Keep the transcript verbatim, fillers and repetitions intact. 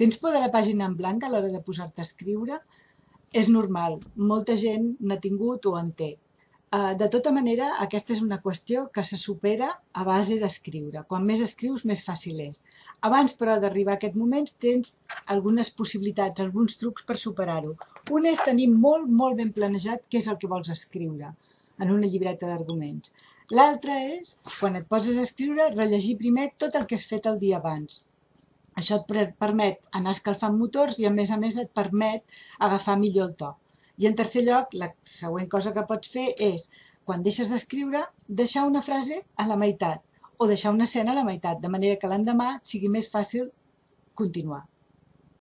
Tens por de la pàgina en blanc a l'hora de posar-te a escriure? És normal, molta gent n'ha tingut o en té. Uh, de tota manera, aquesta és una qüestió que se supera a base d'escriure. Quan més escrius, més fàcil és. Abans, però, d'arribar a aquest moment, tens algunes possibilitats, alguns trucs per superar-ho. Un és tenir molt, molt ben planejat què és el que vols escriure en una llibreta d'arguments. L'altre és, quan et poses a escriure, rellegir primer tot el que has fet el dia abans. Això et permet anar escalfant motors i, a més a més, et permet agafar millor el to. I en tercer lloc, la següent cosa que pots fer és, quan deixes d'escriure, deixar una frase a la meitat o deixar una escena a la meitat, de manera que l'endemà sigui més fàcil continuar.